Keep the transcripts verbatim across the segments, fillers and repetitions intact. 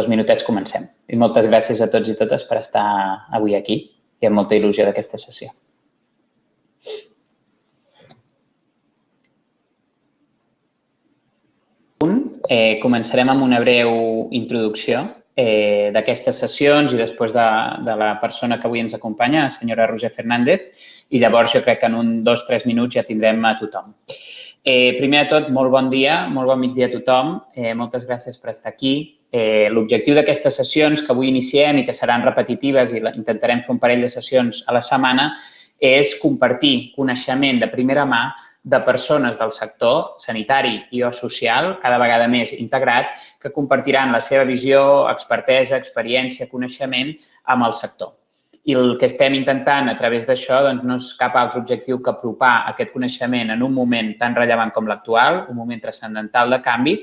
dos minutets comencem. I moltes gràcies a tots i totes per estar avui aquí i amb molta il·lusió d'aquesta sessió. Eh, començarem amb una breu introducció eh, d'aquestes sessions i després de, de la persona que avui ens acompanya, la senyora Roser Fernández, i llavors jo crec que en un, dos, tres minuts ja tindrem a tothom. Eh, primer de tot, molt bon dia, molt bon migdia a tothom. Eh, moltes gràcies per estar aquí. Eh, L'objectiu d'aquestes sessions que avui iniciem i que seran repetitives i intentarem fer un parell de sessions a la setmana és compartir coneixement de primera mà de persones del sector sanitari i o social, cada vegada més integrat, que compartiran la seva visió, expertesa, experiència, coneixement amb el sector. I el que estem intentant a través d'això doncs, no és cap altre objectiu que apropar aquest coneixement en un moment tan rellevant com l'actual, un moment transcendental de canvi,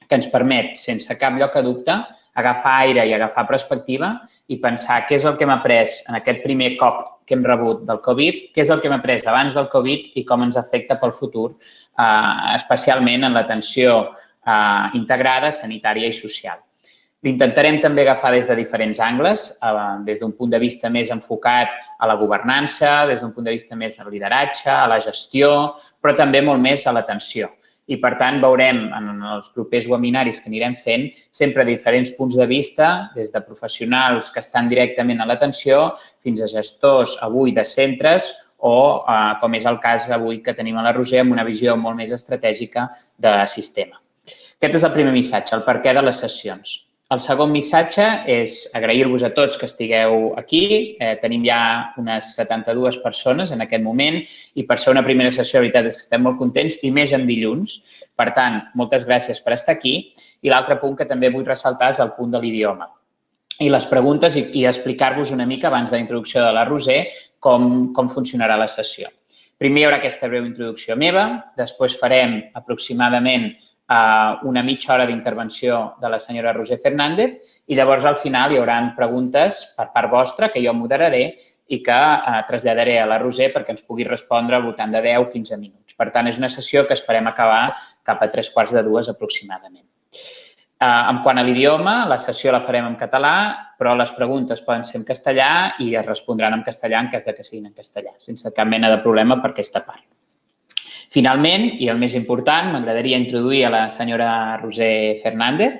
que ens permet, sense cap lloc a dubte, agafar aire i agafar perspectiva i pensar què és el que hem après en aquest primer cop que hem rebut del Covid, què és el que hem après abans del Covid i com ens afecta pel futur, eh, especialment en l'atenció eh, integrada, sanitària i social. L'intentarem també agafar des de diferents angles, eh, des d'un punt de vista més enfocat a la governança, des d'un punt de vista més al lideratge, a la gestió, però també molt més a l'atenció. I, per tant, veurem en els propers webinaris que anirem fent sempre diferents punts de vista, des de professionals que estan directament a l'atenció fins a gestors avui de centres o, eh, com és el cas avui que tenim a la Roser, amb una visió molt més estratègica de sistema. Aquest és el primer missatge, el perquè de les sessions. El segon missatge és agrair-vos a tots que estigueu aquí. Eh, tenim ja unes setanta-dues persones en aquest moment i per ser una primera sessió, la veritat és que estem molt contents i més en dilluns. Per tant, moltes gràcies per estar aquí. I l'altre punt que també vull ressaltar és el punt de l'idioma. I les preguntes i, i explicar-vos una mica abans de la introducció de la Roser com, com funcionarà la sessió. Primer hi haurà aquesta breu introducció meva, després farem aproximadament una mitja hora d'intervenció de la senyora Roser Fernández i llavors al final hi haurà preguntes per part vostra que jo moderaré i que traslladaré a la Roser perquè ens pugui respondre al voltant de deu a quinze minuts. Per tant, és una sessió que esperem acabar cap a tres quarts de dues aproximadament. En quant a l'idioma, la sessió la farem en català, però les preguntes poden ser en castellà i es respondran en castellà en cas que siguin en castellà, sense cap mena de problema per aquesta part. Finalment, i el més important, m'agradaria introduir a la senyora Roser Fernández.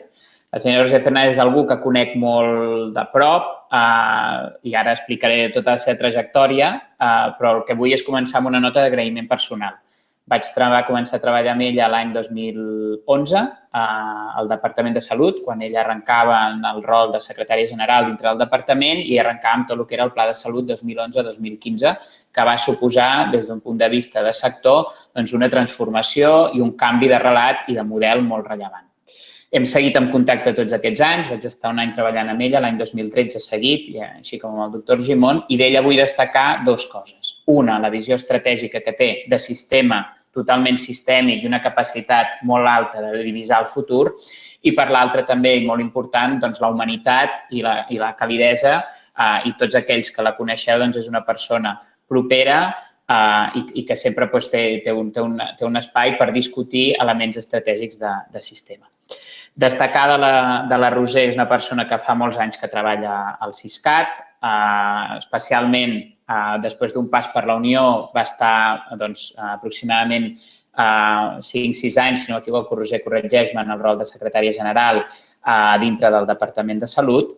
La senyora Roser Fernández és algú que conec molt de prop eh, i ara explicaré tota la seva trajectòria, eh, però el que vull és començar amb una nota d'agraïment personal. Vaig començar a treballar amb ella l'any dos mil onze eh, al Departament de Salut, quan ella arrencava en el rol de secretària general dintre del departament i arrencava amb tot el que era el Pla de Salut dos mil onze dos mil quinze, que va suposar, des d'un punt de vista de sector, doncs una transformació i un canvi de relat i de model molt rellevant. Hem seguit en contacte tots aquests anys, vaig estar un any treballant amb ella, l'any dos mil tretze seguit, així com amb el doctor Gimón, i d'ella vull destacar dues coses. Una, la visió estratègica que té de sistema totalment sistèmic i una capacitat molt alta de divisar el futur, i per l'altra també, i molt important, doncs, la humanitat i la, i la calidesa, eh, i tots aquells que la coneixeu, doncs, és una persona propera eh, i, i que sempre doncs, té, té, un, té, un, té un espai per discutir elements estratègics de, de sistema. Destacar de la, de la Roser és una persona que fa molts anys que treballa al Siscat, eh, especialment eh, després d'un pas per la Unió va estar doncs, aproximadament eh, cinc sis anys, si no m'equivoco, Roser, corregeix-me, en el rol de secretària general eh, dintre del Departament de Salut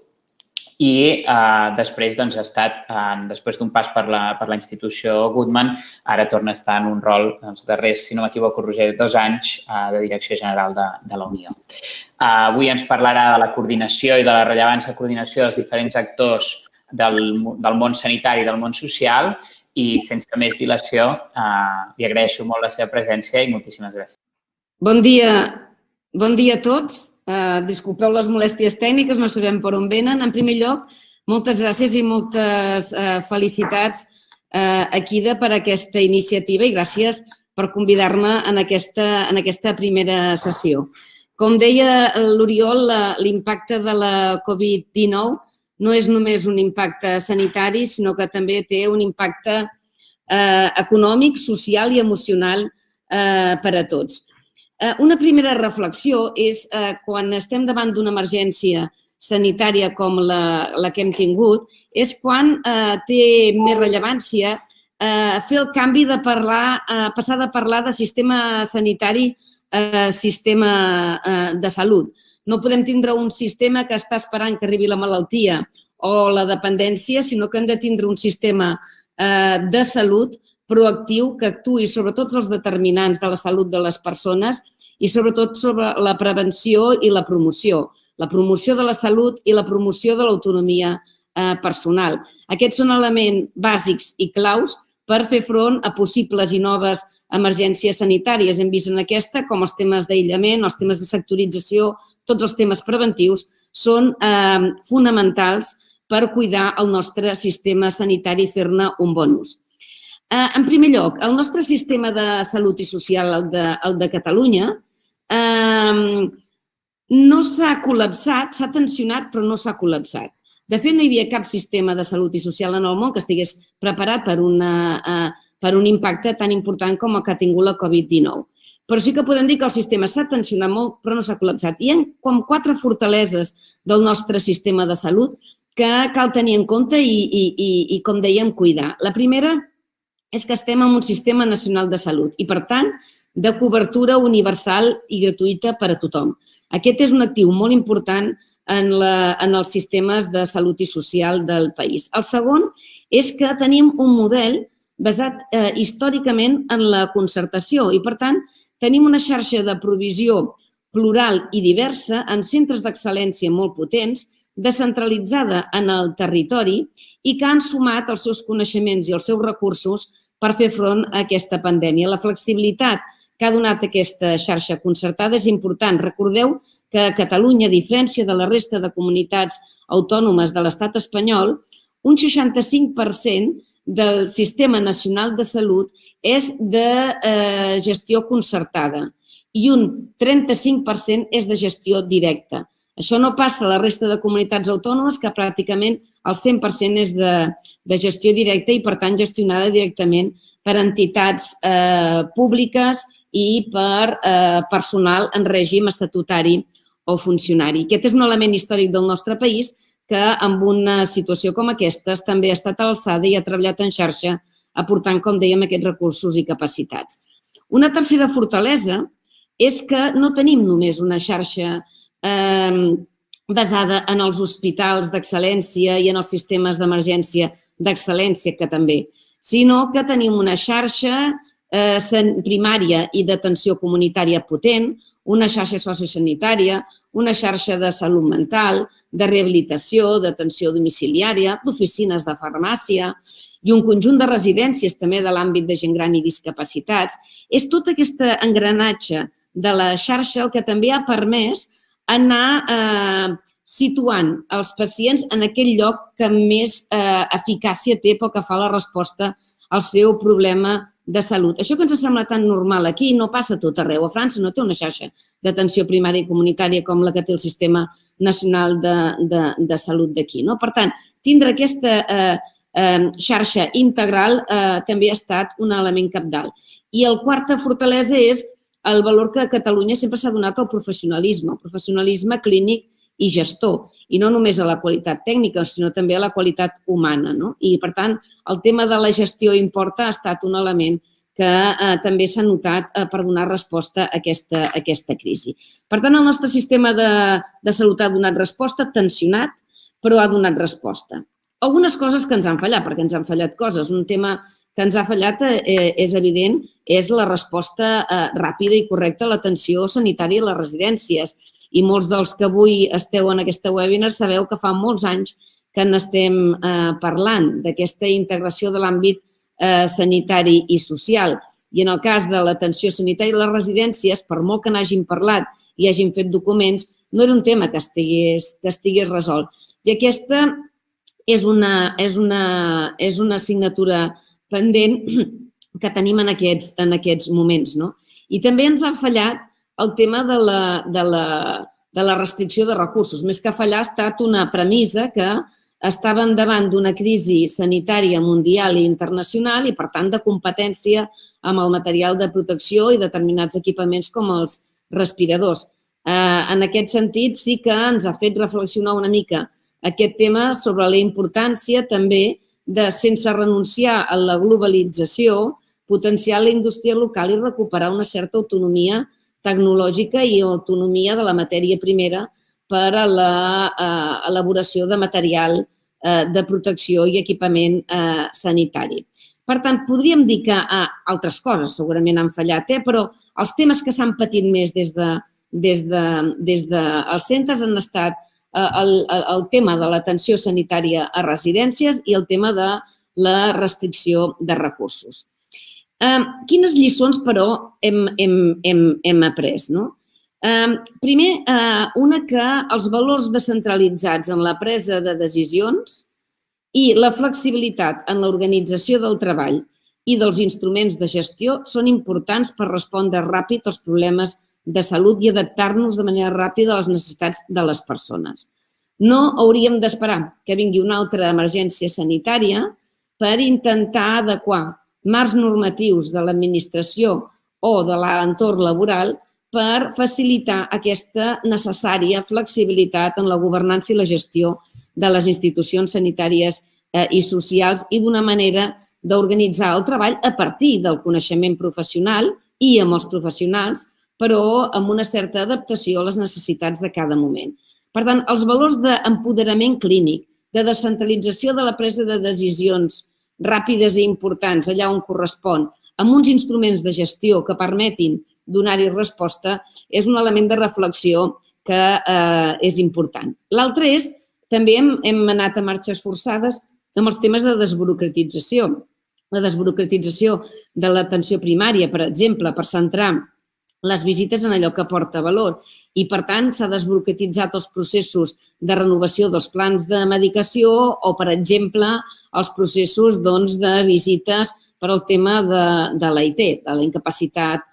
i eh, després doncs, ha estat, eh, després d'un pas per la, per la institució Goodman, ara torna a estar en un rol, els darrers, si no m'equivoco, Roger, dos anys eh, de direcció general de, de la Unió. Eh, avui ens parlarà de la coordinació i de la rellevància de coordinació dels diferents actors del, del món sanitari i del món social i, sense més dilació, eh, li agraeixo molt la seva presència i moltíssimes gràcies. Bon dia, bon dia a tots. Uh, disculpeu les molèsties tècniques, no sabem per on venen. En primer lloc, moltes gràcies i moltes uh, felicitats uh, a Kida per aquesta iniciativa i gràcies per convidar-me en, aquesta, en aquesta primera sessió. Com deia l'Oriol, l'impacte de la Covid dinou no és només un impacte sanitari, sinó que també té un impacte eh, econòmic, social i emocional eh, per a tots. Una primera reflexió és quan estem davant d'una emergència sanitària com la, la que hem tingut, és quan eh, té més rellevància eh, fer el canvi de parlar, eh, passar de parlar de sistema sanitari a sistema eh, de salut. No podem tindre un sistema que està esperant que arribi la malaltia o la dependència, sinó que hem de tindre un sistema eh, de salut proactiu que actuï sobre tots els determinants de la salut de les persones i sobretot sobre la prevenció i la promoció. La promoció de la salut i la promoció de l'autonomia eh, personal. Aquests són elements bàsics i claus per fer front a possibles i noves emergències sanitàries. Hem vist en aquesta com els temes d'aïllament, els temes de sectorització, tots els temes preventius són eh, fonamentals per cuidar el nostre sistema sanitari i fer-ne un bon ús. Eh, en primer lloc, el nostre sistema de salut i social, el de, el de Catalunya, eh, no s'ha col·lapsat, s'ha tensionat però no s'ha col·lapsat. De fet, no hi havia cap sistema de salut i social en el món que estigués preparat per, una, uh, per un impacte tan important com el que ha tingut la Covid dinou. Però sí que podem dir que el sistema s'ha tensionat molt, però no s'ha col·lapsat. Hi ha com quatre fortaleses del nostre sistema de salut que cal tenir en compte i, i, i, i com dèiem, cuidar. La primera és que estem en un sistema nacional de salut i, per tant, de cobertura universal i gratuïta per a tothom. Aquest és un actiu molt important en, la, en els sistemes de salut i social del país. El segon és que tenim un model basat eh, històricament en la concertació i, per tant, tenim una xarxa de provisió plural i diversa amb centres d'excel·lència molt potents, descentralitzada en el territori i que han sumat els seus coneixements i els seus recursos per fer front a aquesta pandèmia. La flexibilitat que ha donat aquesta xarxa concertada és important. Recordeu que a Catalunya, a diferència de la resta de comunitats autònomes de l'estat espanyol, un seixanta-cinc per cent del sistema nacional de salut és de eh, gestió concertada i un trenta-cinc per cent és de gestió directa. Això no passa a la resta de comunitats autònomes, que pràcticament el cent per cent és de, de gestió directa i, per tant, gestionada directament per entitats eh, públiques i per eh, personal en règim estatutari o funcionari. Aquest és un element històric del nostre país que, en una situació com aquesta, també ha estat a l'alçada i ha treballat en xarxa, aportant, com dèiem, aquests recursos i capacitats. Una tercera fortalesa és que no tenim només una xarxa eh, basada en els hospitals d'excel·lència i en els sistemes d'emergència d'excel·lència, que també, sinó que tenim una xarxa eh, primària i d'atenció comunitària potent, una xarxa sociosanitària, una xarxa de salut mental, de rehabilitació, d'atenció domiciliària, d'oficines de farmàcia i un conjunt de residències també de l'àmbit de gent gran i discapacitats. És tot aquest engranatge de la xarxa el que també ha permès anar eh, situant els pacients en aquell lloc que més eh, eficàcia té pel que fa a la resposta al seu problema de salut. Això que ens sembla tan normal aquí no passa tot arreu. A França no té una xarxa d'atenció primària i comunitària com la que té el Sistema Nacional de, de, de Salut d'aquí. No? Per tant, tindre aquesta eh, eh, xarxa integral eh, també ha estat un element cabdal. I la quarta fortalesa és el valor que a Catalunya sempre s'ha donat al professionalisme, el professionalisme clínic i gestor, i no només a la qualitat tècnica, sinó també a la qualitat humana. No? I, per tant, el tema de la gestió importa ha estat un element que eh, també s'ha notat eh, per donar resposta a aquesta, a aquesta crisi. Per tant, el nostre sistema de, de salut ha donat resposta, tensionat, però ha donat resposta. Algunes coses que ens han fallat, perquè ens han fallat coses. Un tema que ens ha fallat, eh, és evident, és la resposta eh, ràpida i correcta a l'atenció sanitària a les residències. I molts dels que avui esteu en aquesta webinar sabeu que fa molts anys que n'estem eh, parlant d'aquesta integració de l'àmbit eh, sanitari i social. I en el cas de l'atenció sanitària a les residències, per molt que n'hagin parlat i hagin fet documents, no era un tema que estigués, que estigués resolt. I aquesta és una, és una, és una assignatura pendent que tenim en aquests, en aquests moments. No? I també ens ha fallat el tema de la, de, la, de la restricció de recursos. Més que fallar, ha estat una premissa que estàvem davant d'una crisi sanitària mundial i internacional i, per tant, de competència amb el material de protecció i determinats equipaments com els respiradors. En aquest sentit, sí que ens ha fet reflexionar una mica aquest tema sobre la importància també de, sense renunciar a la globalització, potenciar la indústria local i recuperar una certa autonomia tecnològica i autonomia de la matèria primera per a l'elaboració de material de protecció i equipament sanitari. Per tant, podríem dir que altres coses segurament han fallat, però els temes que s'han patit més des dels centres han estat el tema de l'atenció sanitària a residències i el tema de la restricció de recursos. Quines lliçons, però, hem après? Primer, una que els valors descentralitzats en la presa de decisions i la flexibilitat en l'organització del treball i dels instruments de gestió són importants per respondre ràpid als problemes de salut i adaptar-nos de manera ràpida a les necessitats de les persones. No hauríem d'esperar que vingui una altra emergència sanitària per intentar adequar marcs normatius de l'administració o de l'entorn laboral per facilitar aquesta necessària flexibilitat en la governança i la gestió de les institucions sanitàries i socials i d'una manera d'organitzar el treball a partir del coneixement professional i amb els professionals, però amb una certa adaptació a les necessitats de cada moment. Per tant, els valors d'empoderament clínic, de descentralització de la presa de decisions ràpides i importants allà on correspon, amb uns instruments de gestió que permetin donar-hi resposta, és un element de reflexió que és important. L'altre és, també hem anat a marxes forçades amb els temes de desburocratització. La desburocratització de l'atenció primària, per exemple, per centrar les visites en allò que aporta valor i, per tant, s'ha desburocratitzat els processos de renovació dels plans de medicació o, per exemple, els processos de visites per al tema de l'A I T, de la incapacitat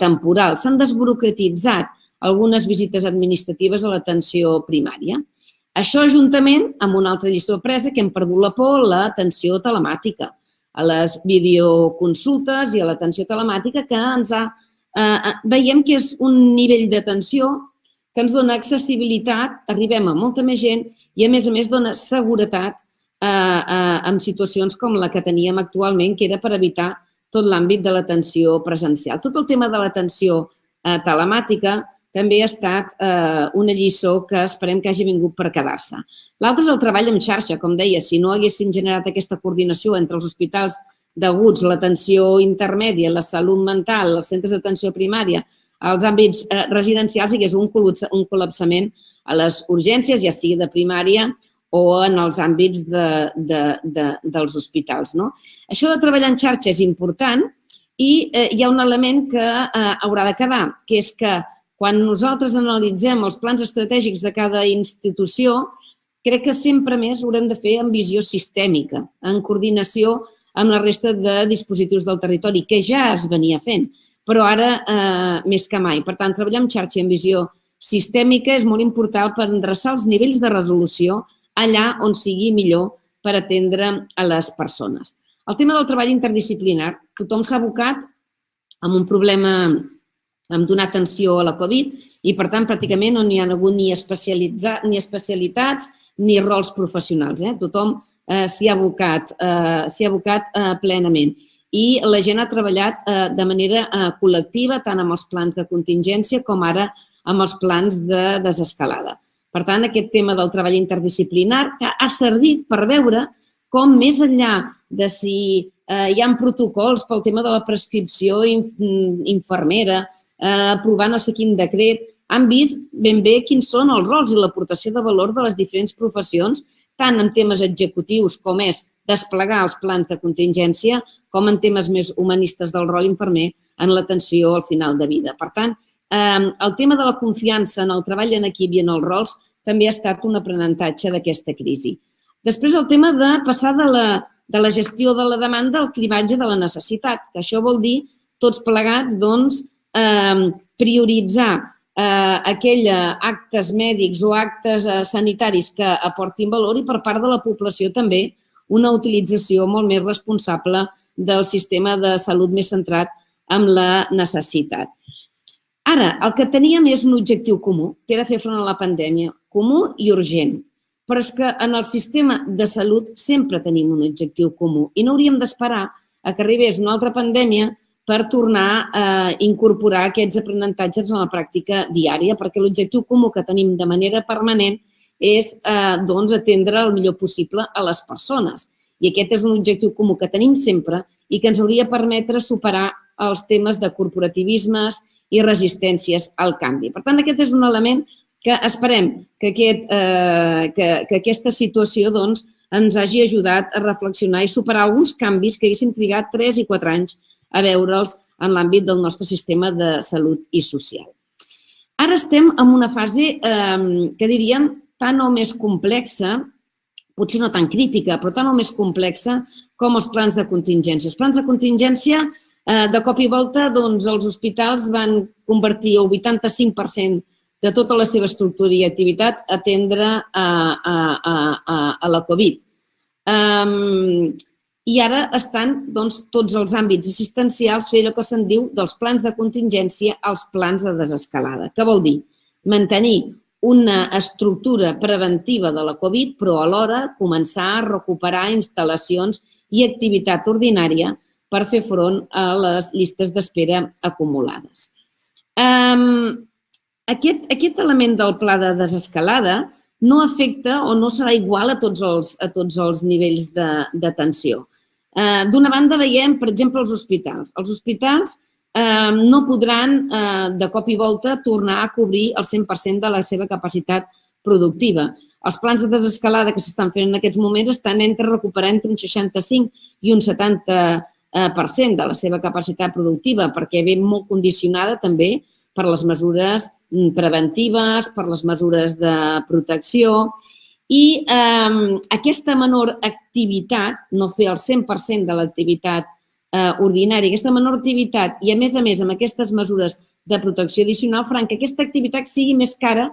temporal. S'han desburocratitzat algunes visites administratives a l'atenció primària. Això, juntament amb una altra lliçó apresa, que hem perdut la por, l'atenció telemàtica, a les videoconsultes i a l'atenció telemàtica, que ens ha... Veiem que és un nivell d'atenció que ens dona accessibilitat, arribem a molta més gent i, a més a més, dona seguretat en situacions com la que teníem actualment, que era per evitar tot l'àmbit de l'atenció presencial. Tot el tema de l'atenció telemàtica també ha estat una lliçó que esperem que hagi vingut per quedar-se. L'altre és el treball en xarxa, com deia, si no haguéssim generat aquesta coordinació entre els hospitals d'aguts, l'atenció intermèdia, la salut mental, els centres d'atenció primària, als àmbits residencials, hi hagués un col·lapsament a les urgències, ja sigui de primària o en els àmbits dels hospitals. Això de treballar en xarxa és important i hi ha un element que haurà de quedar, que és que quan nosaltres analitzem els plans estratègics de cada institució, crec que sempre més ho haurem de fer amb visió sistèmica, en coordinació amb la resta de dispositius del territori, que ja es venia fent, però ara més que mai. Per tant, treballar en xarxa i en visió sistèmica és molt important per endreçar els nivells de resolució allà on sigui millor per atendre a les persones. El tema del treball interdisciplinar, tothom s'ha abocat amb un problema amb donar atenció a la Covid i, per tant, pràcticament no n'hi ha hagut ni especialitats ni rols professionals. Tothom s'hi ha abocat plenament i la gent ha treballat de manera col·lectiva tant amb els plans de contingència com ara amb els plans de desescalada. Per tant, aquest tema del treball interdisciplinar que ha servit per veure com més enllà de si hi ha protocols pel tema de la prescripció infermera, aprovar no sé quin decret, han vist ben bé quins són els rols i l'aportació de valor de les diferents professions, tant en temes executius com és desplegar els plans de contingència, com en temes més humanistes del rol infermer en l'atenció al final de vida. Per tant, el tema de la confiança en el treball en equip i en els rols també ha estat un aprenentatge d'aquesta crisi. Després, el tema de passar de la gestió de la demanda al cribatge de la necessitat, que això vol dir tots plegats, doncs, prioritzar aquells actes mèdics o actes sanitaris que aportin valor i per part de la població també una utilització molt més responsable del sistema de salut més centrat en la necessitat. Ara, el que teníem és un objectiu comú, que era fer front a la pandèmia, comú i urgent. Però és que en el sistema de salut sempre tenim un objectiu comú i no hauríem d'esperar a que arribés una altra pandèmia per tornar a incorporar aquests aprenentatges en la pràctica diària, perquè l'objectiu comú que tenim de manera permanent és atendre el millor possible a les persones. I aquest és un objectiu comú que tenim sempre i que ens hauria de permetre superar els temes de corporativismes i resistències al canvi. Per tant, aquest és un element que esperem que aquesta situació ens hagi ajudat a reflexionar i superar alguns canvis que haguéssim trigat tres i quatre anys a veure'ls en l'àmbit del nostre sistema de salut i social. Ara estem en una fase que diríem tan o més complexa, potser no tan crítica, però tan o més complexa com els plans de contingència. Els plans de contingència, de cop i volta, els hospitals van convertir el vuitanta-cinc per cent de tota la seva estructura i activitat a atendre a la Covid. I ara estan tots els àmbits assistencials fent allò que se'n diu dels plans de contingència als plans de desescalada. Què vol dir? Mantenir una estructura preventiva de la Covid, però alhora començar a recuperar instal·lacions i activitat ordinària per fer front a les llistes d'espera acumulades. Aquest element del pla de desescalada no afecta o no serà igual a tots els nivells d'atenció. D'una banda, veiem, per exemple, els hospitals. Els hospitals no podran, de cop i volta, tornar a cobrir el cent per cent de la seva capacitat productiva. Els plans de desescalada que s'estan fent en aquests moments estan entre recuperar entre un seixanta-cinc i un setanta per cent de la seva capacitat productiva, perquè ve molt condicionada també per les mesures preventives, per les mesures de protecció. I aquesta menor activitat, no fer el cent per cent de l'activitat ordinària, aquesta menor activitat i, a més a més, amb aquestes mesures de protecció addicional, faran que aquesta activitat sigui més cara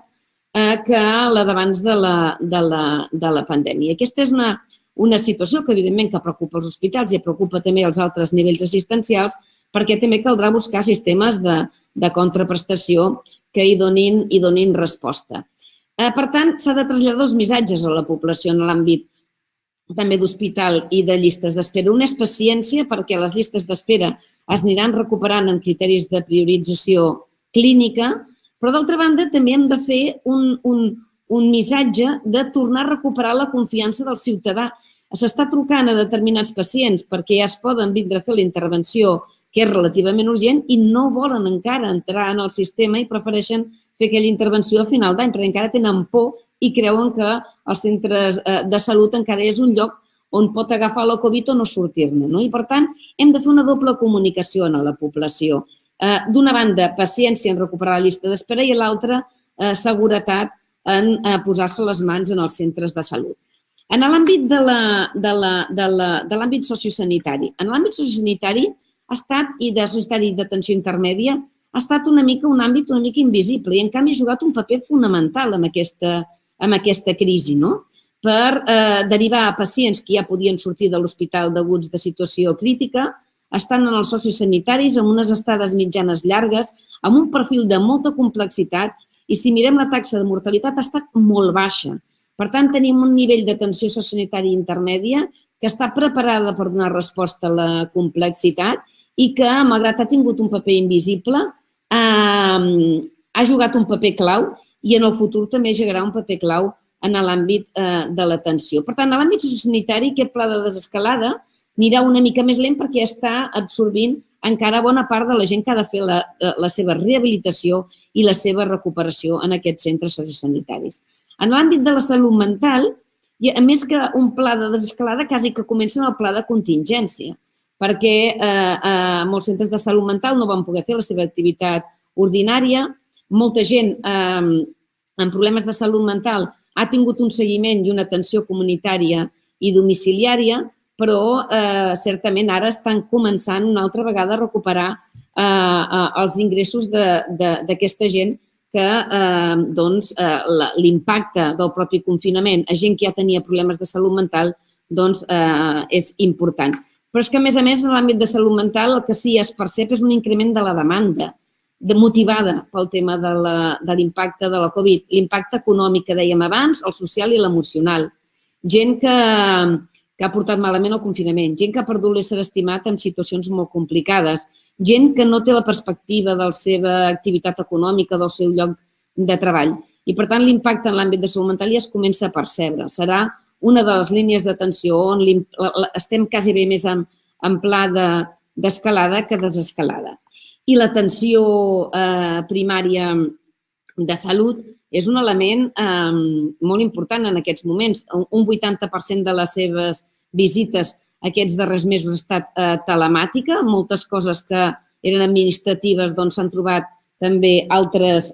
que la d'abans de la pandèmia. Aquesta és una situació que, evidentment, que preocupa els hospitals i preocupa també els altres nivells assistencials, perquè també caldrà buscar sistemes de contraprestació que hi donin resposta. Per tant, s'ha de traslladar dos missatges a la població en l'àmbit també d'hospital i de llistes d'espera. Un és paciència, perquè les llistes d'espera es aniran recuperant amb criteris de priorització clínica, però d'altra banda també hem de fer un missatge de tornar a recuperar la confiança del ciutadà. S'està trucant a determinats pacients perquè ja es poden vindre a fer la intervenció que és relativament urgent i no volen encara entrar en el sistema i prefereixen fer aquella intervenció a final d'any, perquè encara tenen por i creuen que els centres de salut encara és un lloc on pot agafar la Covid o no sortir-ne. I, per tant, hem de fer una doble comunicació a la població. D'una banda, paciència en recuperar la llista d'espera i, a l'altra, seguretat en posar-se les mans en els centres de salut. En l'àmbit de l'àmbit sociosanitari, en l'àmbit sociosanitari ha estat, i de sociosanitari d'atenció intermèdia, ha estat una mica un àmbit una mica invisible i, en canvi, ha jugat un paper fonamental en aquesta crisi, per derivar a pacients que ja podien sortir de l'hospital deguts de situació crítica, estan en els sociosanitaris amb unes estades mitjanes llargues, amb un perfil de molta complexitat i, si mirem la taxa de mortalitat, ha estat molt baixa. Per tant, tenim un nivell d'atenció sociosanitària intermèdia que està preparada per donar resposta a la complexitat i que, malgrat ha tingut un paper invisible, ha jugat un paper clau i en el futur també jugarà un paper clau en l'àmbit de l'atenció. Per tant, en l'àmbit sociosanitari, aquest pla de desescalada anirà una mica més lent perquè està absorbint encara bona part de la gent que ha de fer la seva rehabilitació i la seva recuperació en aquests centres sociosanitaris. En l'àmbit de la salut mental, a més que un pla de desescalada, quasi que comença en el pla de contingència, perquè molts centres de salut mental no van poder fer la seva activitat ordinària. Molta gent amb problemes de salut mental ha tingut un seguiment i una atenció comunitària i domiciliària, però certament ara estan començant una altra vegada a recuperar els ingressos d'aquesta gent que l'impacte del propi confinament a gent que ja tenia problemes de salut mental és important. Però és que, a més a més, en l'àmbit de salut mental el que sí es percep és un increment de la demanda motivada pel tema de l'impacte de la Covid. L'impacte econòmic que dèiem abans, el social i l'emocional. Gent que ha portat malament el confinament, gent que ha perdut l'ésser estimat en situacions molt complicades, gent que no té la perspectiva de la seva activitat econòmica, del seu lloc de treball. I, per tant, l'impacte en l'àmbit de salut mental ja es comença a percebre. Serà una de les línies d'atenció on estem quasi bé més en pla d'escalada que desescalada. I l'atenció primària de salut és un element molt important en aquests moments. Un vuitanta per cent de les seves visites aquests darrers mesos ha estat telemàtica. Moltes coses que eren administratives s'han trobat també altres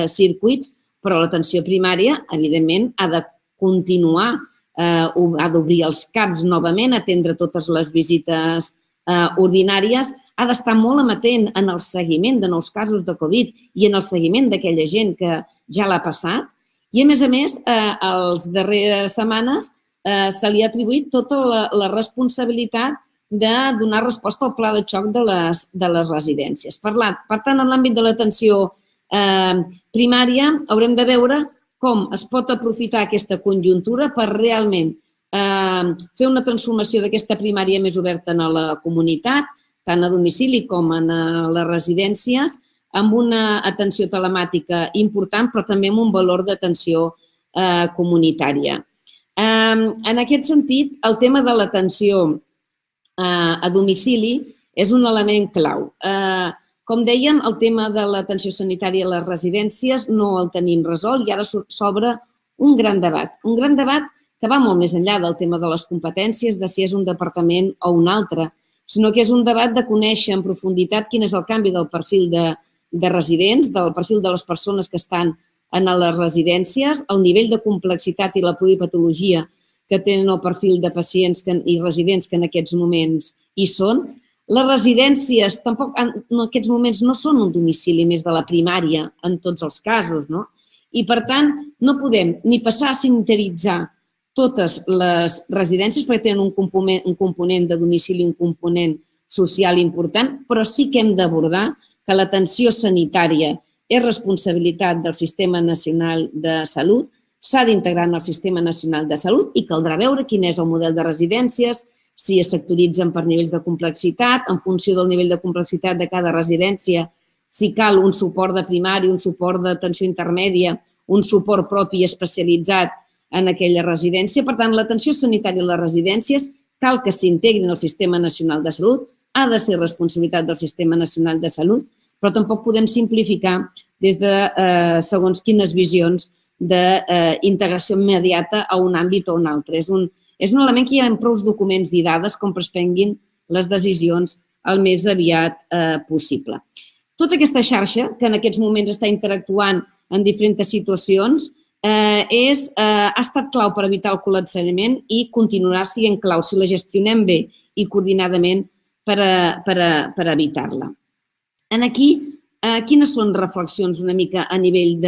circuits, però l'atenció primària, evidentment, ha de continuar, ha d'obrir els caps novament, atendre totes les visites ordinàries, ha d'estar molt amatent en el seguiment de nous casos de Covid i en el seguiment d'aquella gent que ja l'ha passat. I, a més a més, a les darreres setmanes se li ha atribuït tota la responsabilitat de donar resposta al pla de xoc de les residències. Per tant, en l'àmbit de l'atenció primària haurem de veure com es pot aprofitar aquesta conjuntura per realment fer una transformació d'aquesta primària més oberta a la comunitat, tant a domicili com a les residències, amb una atenció telemàtica important, però també amb un valor d'atenció comunitària. En aquest sentit, el tema de l'atenció a domicili és un element clau. Com dèiem, el tema de l'atenció sanitària a les residències no el tenim resolt i ara s'obre un gran debat. Un gran debat que va molt més enllà del tema de les competències, de si és un departament o un altre, sinó que és un debat de conèixer en profunditat quin és el canvi del perfil de residents, del perfil de les persones que estan en les residències, el nivell de complexitat i la pluripatologia que tenen el perfil de pacients i residents que en aquests moments hi són. Les residències tampoc en aquests moments no són un domicili més de la primària en tots els casos, no? I, per tant, no podem ni passar a sanitaritzar totes les residències perquè tenen un component de domicili i un component social important, però sí que hem d'abordar que l'atenció sanitària és responsabilitat del Sistema Nacional de Salut, s'ha d'integrar en el Sistema Nacional de Salut i caldrà veure quin és el model de residències, si es sectoritzen per nivells de complexitat, en funció del nivell de complexitat de cada residència, si cal un suport de primari, un suport d'atenció intermèdia, un suport propi especialitzat en aquella residència. Per tant, l'atenció sanitària a les residències cal que s'integrin al Sistema Nacional de Salut, ha de ser responsabilitat del Sistema Nacional de Salut, però tampoc podem simplificar des de segons quines visions d'integració immediata a un àmbit o un altre. És un És un element que hi ha prou documents i dades com per es prenguin les decisions el més aviat possible. Tota aquesta xarxa, que en aquests moments està interactuant en diferents situacions, ha estat clau per evitar el col·lapsament i continuarà sent clau si la gestionem bé i coordinadament per evitar-la. Aquí, quines són reflexions una mica a nivell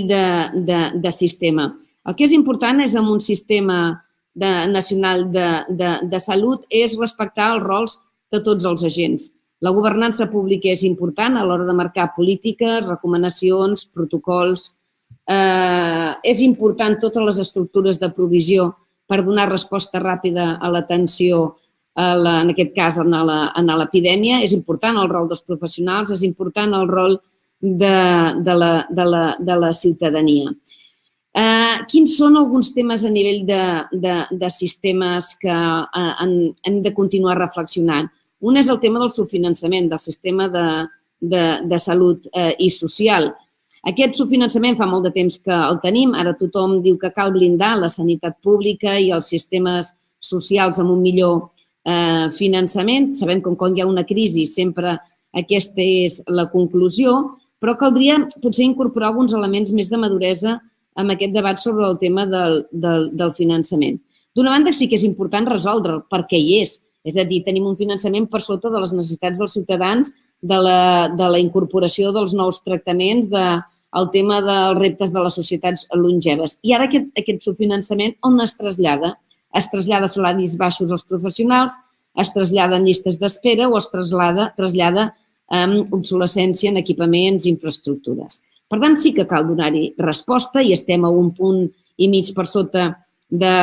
de sistema? El que és important és en un sistema nacional de salut és respectar els rols de tots els agents. La governança pública és important a l'hora de marcar polítiques, recomanacions, protocols. És important totes les estructures de provisió per donar resposta ràpida a l'atenció, en aquest cas, a l'epidèmia. És important el rol dels professionals, és important el rol de la ciutadania. Quins són alguns temes a nivell de sistemes que hem de continuar reflexionant? Un és el tema del subfinançament del sistema de salut i social. Aquest subfinançament fa molt de temps que el tenim. Ara tothom diu que cal blindar la sanitat pública i els sistemes socials amb un millor finançament. Sabem que quan hi ha una crisi sempre aquesta és la conclusió, però caldria potser incorporar alguns elements més de maduresa amb aquest debat sobre el tema del finançament. D'una banda, sí que és important resoldre'l, perquè hi és. És a dir, tenim un finançament per sota de les necessitats dels ciutadans, de la incorporació dels nous tractaments, del tema dels reptes de les societats longeves. I ara aquest subfinançament on es trasllada? Es trasllada a salaris baixos als professionals, es trasllada en llistes d'espera o es trasllada amb obsolescència en equipaments i infraestructures. Per tant, sí que cal donar-hi resposta i estem a un punt i mig per sota de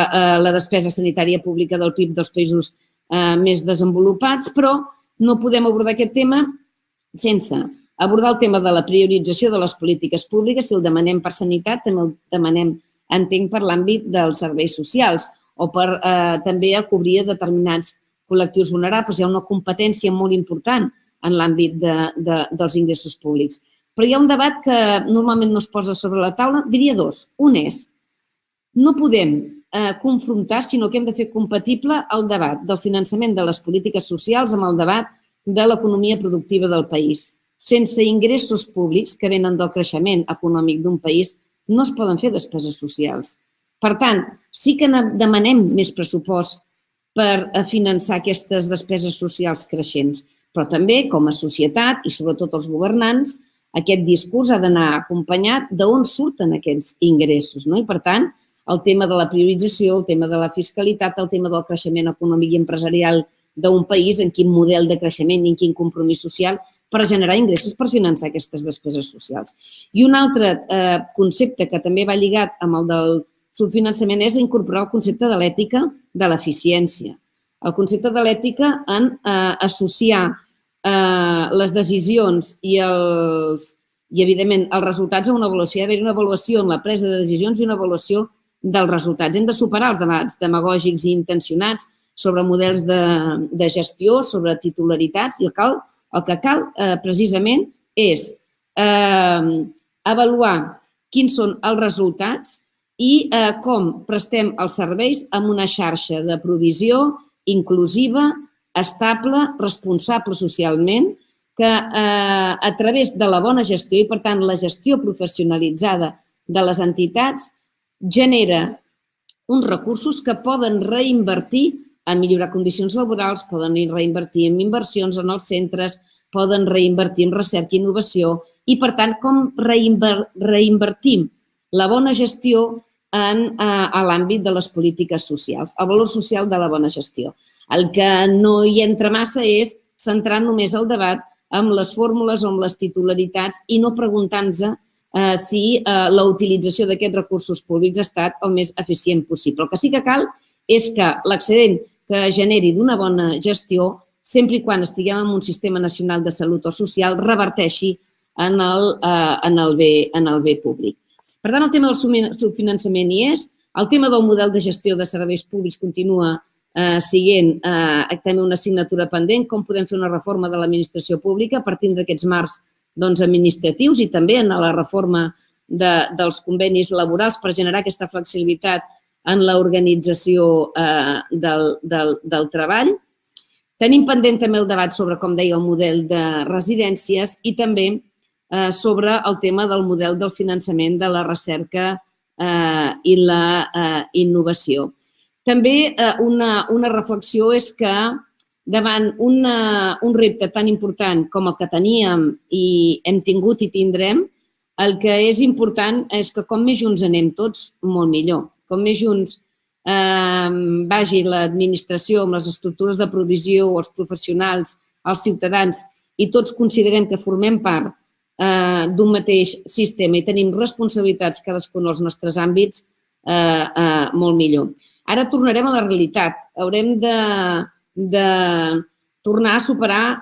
la despesa sanitària pública del P I B dels països més desenvolupats, però no podem abordar aquest tema sense abordar el tema de la priorització de les polítiques públiques. Si el demanem per sanitat, també el demanem, entenc, per l'àmbit dels serveis socials o per també a cobrir determinats col·lectius vulnerables. Hi ha una competència molt important en l'àmbit dels ingressos públics. Però hi ha un debat que normalment no es posa sobre la taula, diria dos. Un és, no podem confrontar, sinó que hem de fer compatible el debat del finançament de les polítiques socials amb el debat de l'economia productiva del país. Sense ingressos públics que venen del creixement econòmic d'un país, no es poden fer despeses socials. Per tant, sí que demanem més pressupost per finançar aquestes despeses socials creixents, però també, com a societat i sobretot els governants, aquest discurs ha d'anar acompanyat d'on surten aquests ingressos. I, per tant, el tema de la priorització, el tema de la fiscalitat, el tema del creixement econòmic i empresarial d'un país, en quin model de creixement i en quin compromís social per generar ingressos per finançar aquestes despeses socials. I un altre concepte que també va lligat amb el del subfinançament és incorporar el concepte de l'ètica de l'eficiència. El concepte de l'ètica en associar les decisions i, evidentment, els resultats a una avaluació. Hi ha d'haver una avaluació en la presa de decisions i una avaluació dels resultats. Hem de superar els debats demagògics i intencionats sobre models de gestió, sobre titularitats, i el que cal precisament és avaluar quins són els resultats i com prestem els serveis amb una xarxa de provisió inclusiva, estable, responsable socialment, que a través de la bona gestió i, per tant, la gestió professionalitzada de les entitats genera uns recursos que poden reinvertir a millorar condicions laborals, poden reinvertir en inversions en els centres, poden reinvertir en recerca i innovació i, per tant, com reinvertim la bona gestió a l'àmbit de les polítiques socials, el valor social de la bona gestió. El que no hi entra massa és centrar només el debat amb les fórmules o amb les titularitats i no preguntant-nos si la utilització d'aquests recursos públics ha estat el més eficient possible. El que sí que cal és que l'excedent que generi d'una bona gestió, sempre i quan estiguem en un sistema nacional de salut o social, reverteixi en el bé públic. Per tant, el tema del subfinançament hi és, el tema del model de gestió de serveis públics continua sent també una assignatura pendent, com podem fer una reforma de l'administració pública partint d'aquests marcs administratius i també en la reforma dels convenis laborals per generar aquesta flexibilitat en l'organització del treball. Tenim pendent també el debat sobre, com deia, el model de residències i també sobre el tema del model del finançament de la recerca i la innovació. També una reflexió és que davant un repte tan important com el que teníem i hem tingut i tindrem, el que és important és que com més junts anem tots, molt millor. Com més junts vagi l'administració amb les estructures de provisió, els professionals, els ciutadans i tots considerem que formem part d'un mateix sistema i tenim responsabilitats cadascun dels nostres àmbits, molt millor. Ara tornarem a la realitat. Haurem de tornar a superar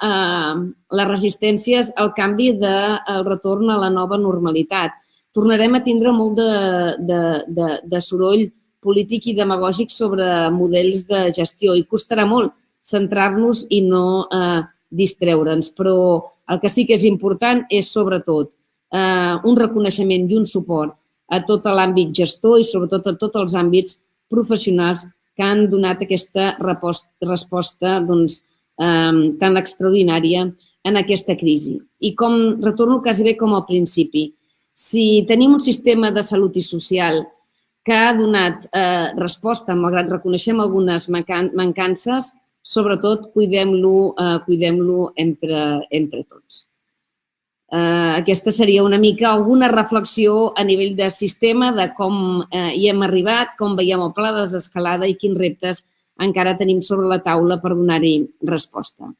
les resistències al canvi del retorn a la nova normalitat. Tornarem a tindre molt de soroll polític i demagògic sobre models de gestió i costarà molt centrar-nos i no distreure'ns. Però el que sí que és important és, sobretot, un reconeixement i un suport a tot l'àmbit gestor i, sobretot, a tots els àmbits professionals que han donat aquesta resposta tan extraordinària en aquesta crisi. I com retorno quasi bé com al principi, si tenim un sistema de salut i social que ha donat resposta, malgrat reconeixem algunes mancances, sobretot cuidem-lo entre tots. Aquesta seria una mica alguna reflexió a nivell de sistema de com hi hem arribat, com veiem el pla de desescalada i quins reptes encara tenim sobre la taula per donar-hi resposta.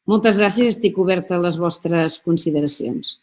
Moltes gràcies, estic oberta a les vostres consideracions.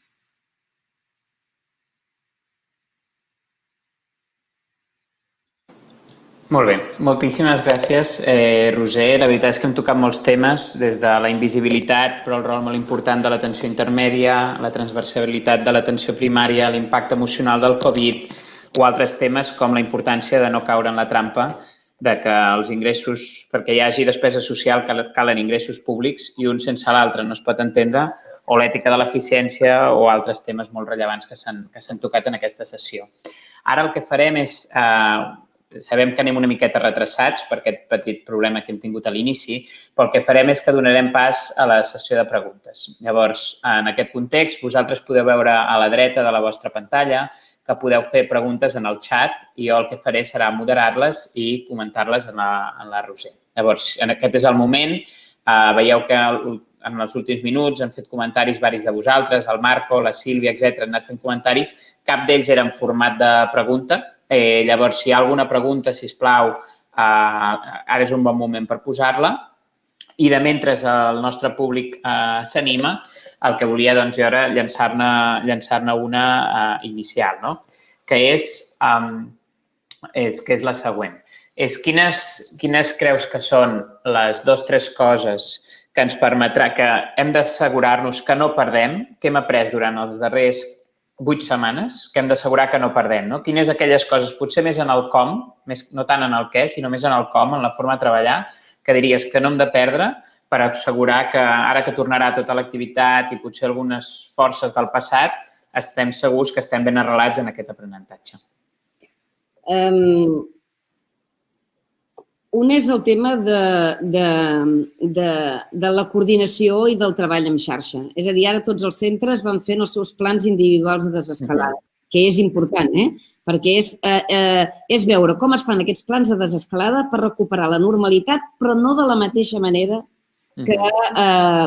Molt bé, moltíssimes gràcies, eh, Roser. La veritat és que hem tocat molts temes, des de la invisibilitat, però el rol molt important de l'atenció intermèdia, la transversalitat de l'atenció primària, l'impacte emocional del Covid o altres temes com la importància de no caure en la trampa de que els ingressos, perquè hi hagi despesa social, calen ingressos públics i un sense l'altre no es pot entendre, o l'ètica de l'eficiència o altres temes molt rellevants que s'han tocat en aquesta sessió. Ara el que farem és... Sabem que anem una miqueta retrasats per aquest petit problema que hem tingut a l'inici, però el que farem és que donarem pas a la sessió de preguntes. Llavors, en aquest context, vosaltres podeu veure a la dreta de la vostra pantalla que podeu fer preguntes en el xat i jo el que faré serà moderar-les i comentar-les en la Roser. Llavors, aquest és el moment. Veieu que en els últims minuts han fet comentaris varis de vosaltres, el Marco, la Sílvia, etcètera, han anat fent comentaris. Cap d'ells era en format de pregunta. Llavors, si hi ha alguna pregunta, sisplau, ara és un bon moment per posar-la. I de mentre el nostre públic s'anima, el que volia jo era llançar-ne una inicial, que és la següent. Quines creus que són les dues o tres coses que ens permetrà que hem d'assegurar-nos que no perdem, que hem après durant els darrers vuit setmanes, que hem d'assegurar que no perdem? Quines aquelles coses, potser més en el com, no tant en el què, sinó més en el com, en la forma de treballar, que diries que no hem de perdre per assegurar que ara que tornarà tota l'activitat i potser algunes forces del passat, estem segurs que estem ben arrelats en aquest aprenentatge? Un és el tema de la coordinació i del treball en xarxa. És a dir, ara tots els centres van fent els seus plans individuals de desescalada, que és important, perquè és veure com es fan aquests plans de desescalada per recuperar la normalitat, però no de la mateixa manera que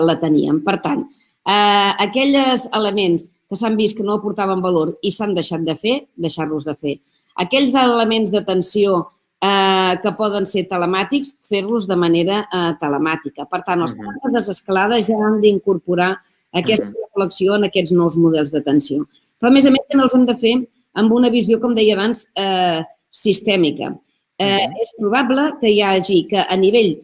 la teníem. Per tant, aquells elements que s'han vist que no aportaven valor i s'han deixat de fer, deixar-los de fer. Aquells elements d'atenció que poden ser telemàtics, fer-los de manera telemàtica. Per tant, els plans de desescalada ja han d'incorporar aquesta reflexió en aquests nous models d'atenció. Però, a més a més, també els hem de fer amb una visió, com deia abans, sistèmica. És probable que hi hagi que a nivell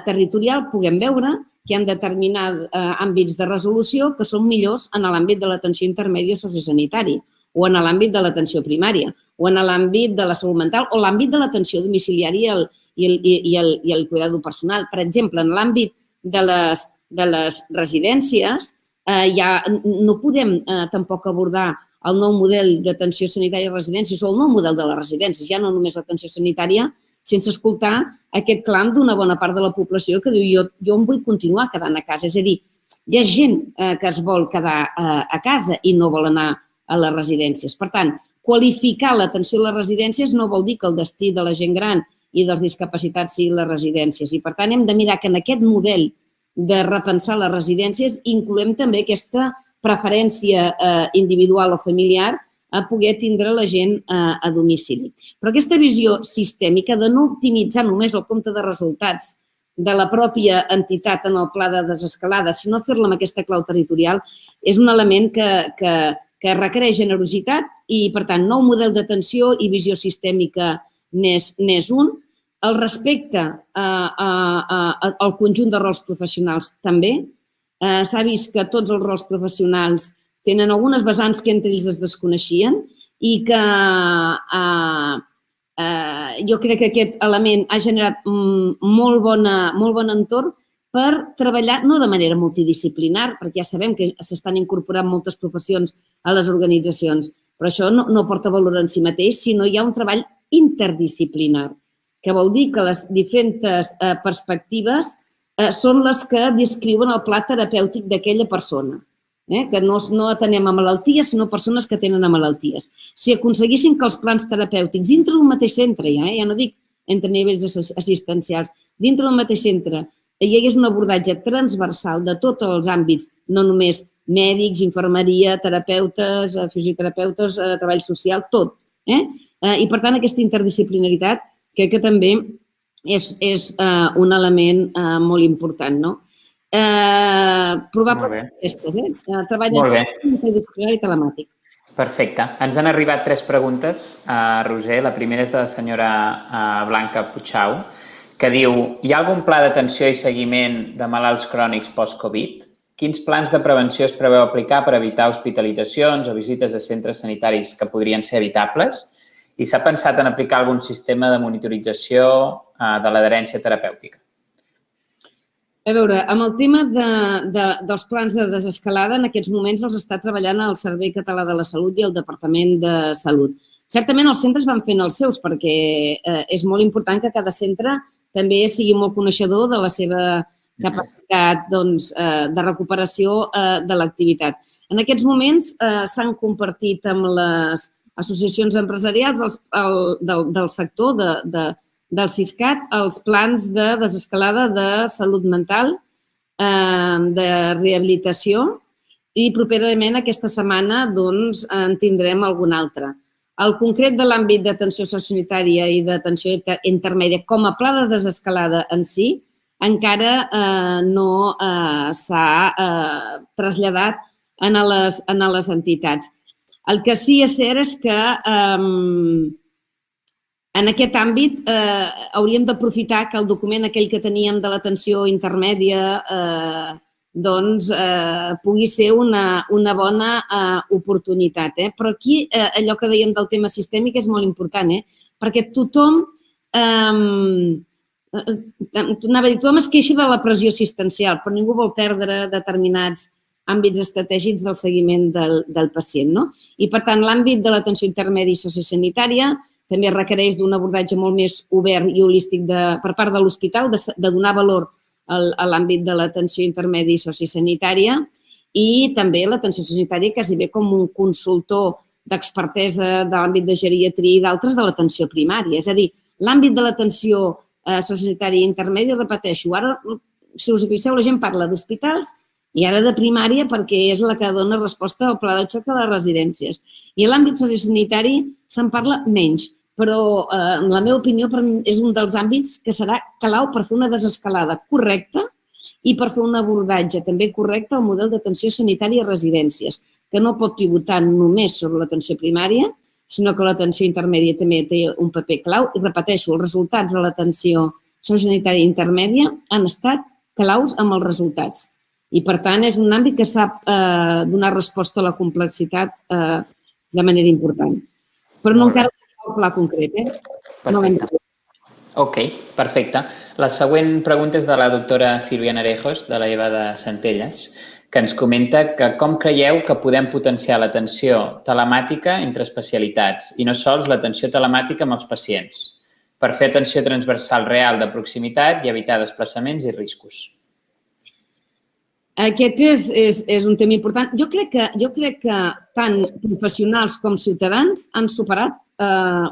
territorial puguem veure que hi ha determinats àmbits de resolució que són millors en l'àmbit de l'atenció intermèdia sociosanitària o en l'àmbit de l'atenció primària, o en l'àmbit de la salut mental, o l'àmbit de l'atenció domiciliària i el cuidado personal. Per exemple, en l'àmbit de les residències, no podem tampoc abordar el nou model d'atenció sanitària a residències o el nou model de les residències, ja no només l'atenció sanitària, sense escoltar aquest clam d'una bona part de la població que diu jo em vull continuar quedant a casa. És a dir, hi ha gent que es vol quedar a casa i no vol anar a les residències. Per tant, qualificar l'atenció a les residències no vol dir que el destí de la gent gran i dels discapacitats siguin les residències. I, per tant, hem de mirar que en aquest model de repensar les residències incloem també aquesta preferència individual o familiar a poder tindre la gent a domicili. Però aquesta visió sistèmica de no optimitzar només el compte de resultats de la pròpia entitat en el pla de desescalada, sinó fer-la amb aquesta clau territorial, és un element que que requereix generositat i, per tant, nou model d'atenció i visió sistèmica n'és un. El respecte al conjunt de rols professionals també. S'ha vist que tots els rols professionals tenen algunes vessants que entre ells es desconeixien i que jo crec que aquest element ha generat molt bon entorn per treballar, no de manera multidisciplinar, perquè ja sabem que s'estan incorporant moltes professions a les organitzacions, però això no porta valor en si mateix, sinó hi ha un treball interdisciplinar, que vol dir que les diferents perspectives són les que descriuen el pla terapèutic d'aquella persona, que no atenem a malalties, sinó persones que tenen malalties. Si aconseguissin que els plans terapèutics dintre d'un mateix centre, ja no dic entre nivells assistencials, dintre d'un mateix centre, hi hagués un abordatge transversal de tots els àmbits, no només mèdics, infermeria, terapeutes, fisioterapeutes, treball social, tot. I, per tant, aquesta interdisciplinaritat crec que també és un element molt important. Probablement aquestes, eh? Treballa multidisciplinari i telemàtic. Perfecte. Ens han arribat tres preguntes, Roser. La primera és de la senyora Blanca Puchau, que diu: hi ha algun pla d'atenció i seguiment de malalts crònics post-Covid? Quins plans de prevenció es preveu aplicar per evitar hospitalitzacions o visites a centres sanitaris que podrien ser evitables? I s'ha pensat en aplicar algun sistema de monitorització de l'adherència terapèutica? A veure, amb el tema dels plans de desescalada, en aquests moments els està treballant el Servei Català de la Salut i el Departament de Salut. Certament els centres van fent els seus perquè és molt important que cada centre també sigui molt coneixedor de la seva capacitat de recuperació de l'activitat. En aquests moments s'han compartit amb les associacions empresarials del sector del Siscat els plans de desescalada de salut mental, de rehabilitació i properament aquesta setmana en tindrem algun altre. El concret de l'àmbit d'atenció sociosanitària i d'atenció intermèdia com a pla de desescalada en si encara no s'ha traslladat a les entitats. El que sí és cert és que en aquest àmbit hauríem d'aprofitar que el document aquell que teníem de l'atenció intermèdia pugui ser una bona oportunitat. Però aquí allò que dèiem del tema sistèmic és molt important, perquè tothom anava a dir, tothom es queixa de la pressió assistencial, però ningú vol perdre determinats àmbits estratègics del seguiment del pacient. I, per tant, l'àmbit de l'atenció intermèdia i sociosanitària també requereix d'un abordatge molt més obert i holístic per part de l'hospital, de donar valor a l'àmbit de l'atenció intermèdia i sociosanitària i també l'atenció sociosanitària quasi bé com un consultor d'expertesa de l'àmbit de geriatria i d'altres de l'atenció primària. És a dir, l'àmbit de l'atenció sociosanitària intermèdia, repeteixo, ara, si us fixeu, la gent parla d'hospitals i ara de primària perquè és la que dona resposta al pla de xoc de les residències. I a l'àmbit sociosanitari se'n parla menys, però en la meva opinió és un dels àmbits que serà clau per fer una desescalada correcta i per fer un abordatge també correcte al model d'atenció sanitària a residències, que no pot pivotar només sobre l'atenció primària, sinó que l'atenció intermèdia també té un paper clau. I repeteixo, els resultats de l'atenció sociosanitària intermèdia han estat claus amb els resultats. I, per tant, és un àmbit que sap donar resposta a la complexitat de manera important. Però no encara tenim el pla concret. Perfecte. Ok, perfecte. La següent pregunta és de la doctora Sílvia Narejos, de la E V A de Centelles, que ens comenta que com creieu que podem potenciar l'atenció telemàtica entre especialitats i no sols l'atenció telemàtica amb els pacients per fer atenció transversal real de proximitat i evitar desplaçaments i riscos. Aquest és un tema important. Jo crec que tant professionals com ciutadans han superat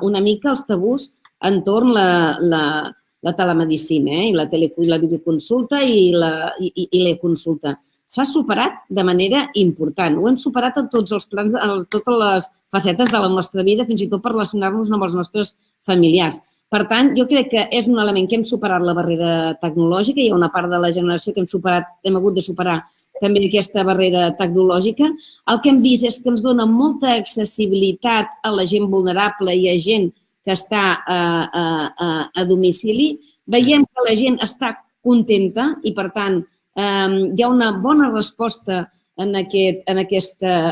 una mica els tabús entorn la telemedicina i la videoconsulta i l'e-consulta. S'ha superat de manera important. Ho hem superat en tots els plans, en totes les facetes de la nostra vida, fins i tot per relacionar-nos amb els nostres familiars. Per tant, jo crec que és un element que hem superat la barrera tecnològica. Hi ha una part de la generació que hem superat, hem hagut de superar també aquesta barrera tecnològica. El que hem vist és que ens dona molta accessibilitat a la gent vulnerable i a gent que està a domicili. Veiem que la gent està contenta i, per tant, hi ha una bona resposta en aquesta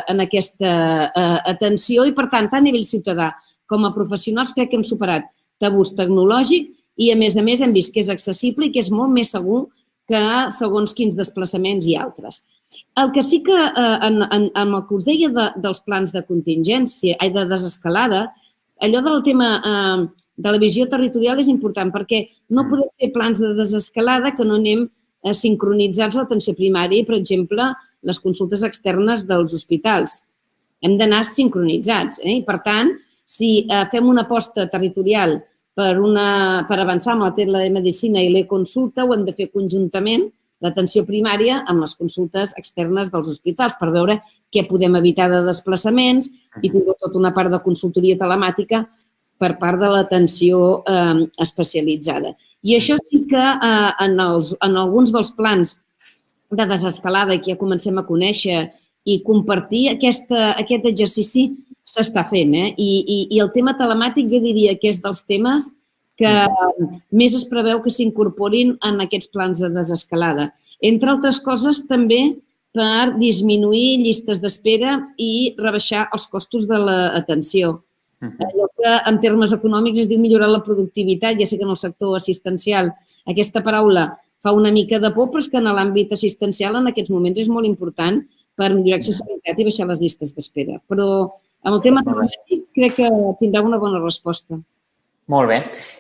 atenció i, per tant, tant a nivell ciutadà com a professionals crec que hem superat tabús tecnològic i, a més a més, hem vist que és accessible i que és molt més segur que segons quins desplaçaments i altres. El que sí que, amb el que us deia dels plans de contingència, de desescalada, allò del tema de la visió territorial és important perquè no podem fer plans de desescalada que no anem sincronitzats a l'atenció primària i, per exemple, les consultes externes dels hospitals. Hem d'anar sincronitzats. Per tant, si fem una aposta territorial per avançar amb la telemedicina i l'e-consulta, ho hem de fer conjuntament, l'atenció primària, amb les consultes externes dels hospitals per veure què podem evitar de desplaçaments i fins i tot una part de consultoria telemàtica per part de l'atenció especialitzada. I això sí que en alguns dels plans de desescalada i que ja comencem a conèixer i compartir, aquest exercici s'està fent. I el tema telemàtic jo diria que és dels temes que més es preveu que s'incorporin en aquests plans de desescalada. Entre altres coses, també per disminuir llistes d'espera i rebaixar els costos de l'atenció. Allò que en termes econòmics es diu millorar la productivitat, ja sé que en el sector assistencial aquesta paraula fa una mica de por, però és que en l'àmbit assistencial en aquests moments és molt important per millorar l'accessibilitat i baixar les llistes d'espera. Però amb el tema telemàtic crec que tindrà una bona resposta. Molt bé.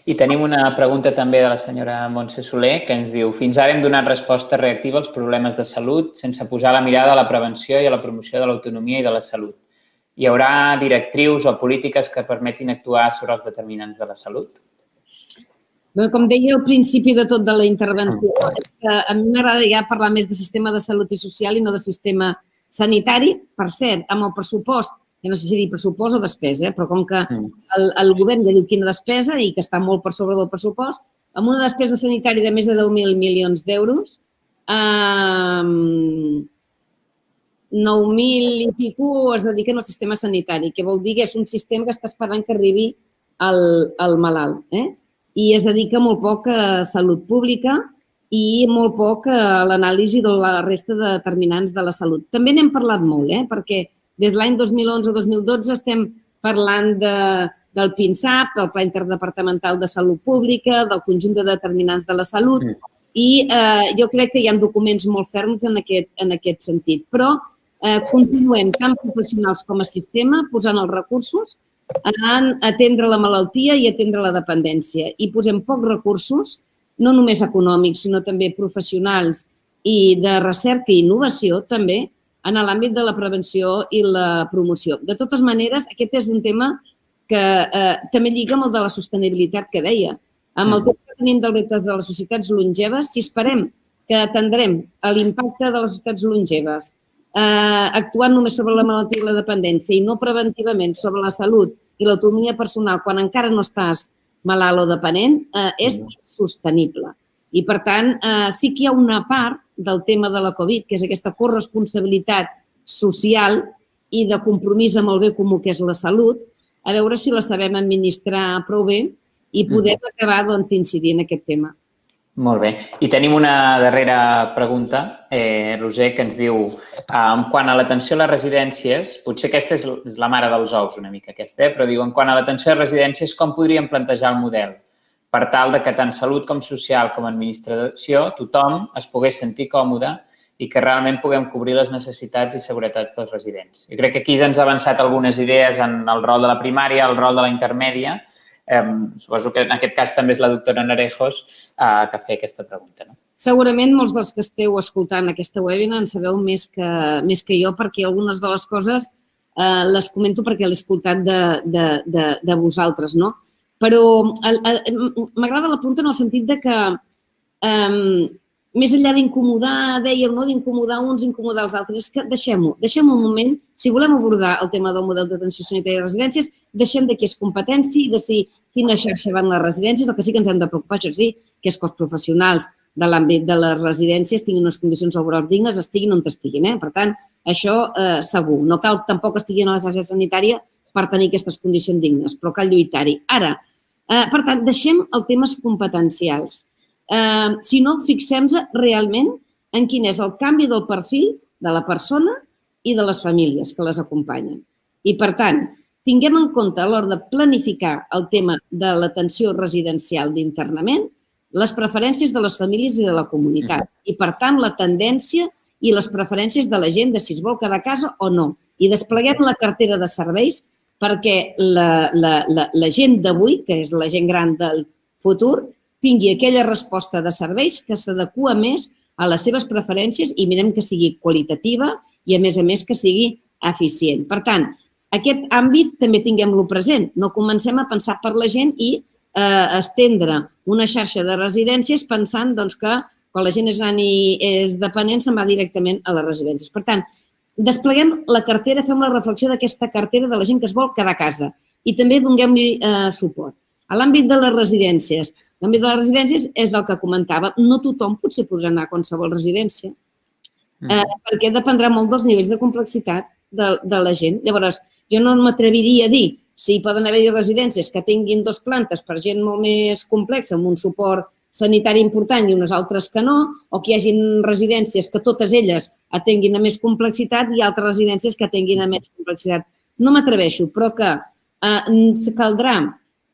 I tenim una pregunta també de la senyora Montse Soler que ens diu: fins ara hem donat resposta reactiva als problemes de salut sense posar la mirada a la prevenció i a la promoció de l'autonomia i de la salut. Hi haurà directrius o polítiques que permetin actuar sobre els determinants de la salut? Com deia al principi de tot de la intervenció, a mi m'agrada ja parlar més de sistema de salut i social i no de sistema sanitari. Per cert, amb el pressupost, ja no sé si dir pressupost o despesa, però com que el govern ja diu quina despesa i que està molt per sobre del pressupost, amb una despesa sanitària de més de deu mil milions d'euros, nou mil i pico es dediquen al sistema sanitari, que vol dir que és un sistema que està esperant que arribi al malalt. I es dedica molt poc a salut pública i molt poc a l'anàlisi de la resta de determinants de la salut. També n'hem parlat molt, perquè des de l'any dos mil onze dos mil dotze estem parlant del PINSAP, del Pla Interdepartamental de Salut Pública, del conjunt de determinants de la salut, i jo crec que hi ha documents molt ferms en aquest sentit. Però continuem, tant professionals com a sistema, posant els recursos en atendre la malaltia i atendre la dependència. I posem pocs recursos, no només econòmics, sinó també professionals i de recerca i innovació, també, en l'àmbit de la prevenció i la promoció. De totes maneres, aquest és un tema que també lliga amb el de la sostenibilitat que deia. Amb el tema que tenim dels reptes de les societats longeves, si esperem que atendrem l'impacte de les societats longeves actuant només sobre la malaltia i la dependència i no preventivament sobre la salut i l'autonomia personal quan encara no estàs malalt o dependent, és insostenible. I, per tant, sí que hi ha una part del tema de la Covid, que és aquesta corresponsabilitat social i de compromís amb el bé comú que és la salut, a veure si la sabem administrar prou bé i podem acabar d'incidir en aquest tema. Molt bé. I tenim una darrera pregunta, Roser, que ens diu: quant a l'atenció a les residències, potser aquesta és la mare dels ous una mica aquesta, però diu, quant a l'atenció a les residències, com podríem plantejar el model per tal que tant salut com social com administració, tothom es pogués sentir còmode i que realment puguem cobrir les necessitats i seguretats dels residents? Jo crec que aquí ens ha avançat algunes idees en el rol de la primària, el rol de la intermèdia. Suposo que en aquest cas també és la doctora Narejos que feia aquesta pregunta. Segurament molts dels que esteu escoltant aquesta webinar en sabeu més que jo, perquè algunes de les coses les comento perquè l'he escoltat de vosaltres, no? Però m'agrada la pregunta en el sentit que més enllà d'incomodar, dèiem, no? D'incomodar uns, incomodar els altres, és que deixem-ho, deixem un moment. Si volem abordar el tema del model d'atenció sanitària de residències, deixem de què és competència i de si quina xarxa van les residències. El que sí que ens hem de preocupar, això sí, que és que els professionals de l'àmbit de les residències tinguin unes condicions laborals dignes, estiguin on estiguin. Per tant, això segur. No cal tampoc estiguin a la xarxa sanitària per tenir aquestes condicions dignes, però cal lluitar-hi. Ara, per tant, deixem els temes competencials. Si no, fixem-nos realment en quin és el canvi del perfil de la persona i de les famílies que les acompanyen. I, per tant, tinguem en compte a l'hora de planificar el tema de l'atenció residencial d'internament les preferències de les famílies i de la comunitat. I, per tant, la tendència i les preferències de la gent de si es vol quedar a casa o no. I despleguem la cartera de serveis perquè la gent d'avui, que és la gent gran del futur, tingui aquella resposta de serveis que s'adequa més a les seves preferències i mirem que sigui qualitativa i, a més a més, que sigui eficient. Per tant, aquest àmbit també tinguem-lo present. No comencem a pensar per la gent i estendre una xarxa de residències pensant que quan la gent és gran i és dependent se'n va directament a les residències. Per tant, despleguem la cartera, fem la reflexió d'aquesta cartera de la gent que es vol quedar a casa i també donem-li suport. A l'àmbit de les residències, l'àmbit de les residències és el que comentava. No tothom potser podrà anar a qualsevol residència. perquè dependrà molt dels nivells de complexitat de la gent. Llavors, jo no m'atreviria a dir si poden haver-hi residències que tinguin dues plantes per gent molt més complexa, amb un suport sanitari important i unes altres que no, o que hi hagi residències que totes elles atenguin a més complexitat i altres residències que atenguin a més complexitat. No m'atreveixo, però que caldrà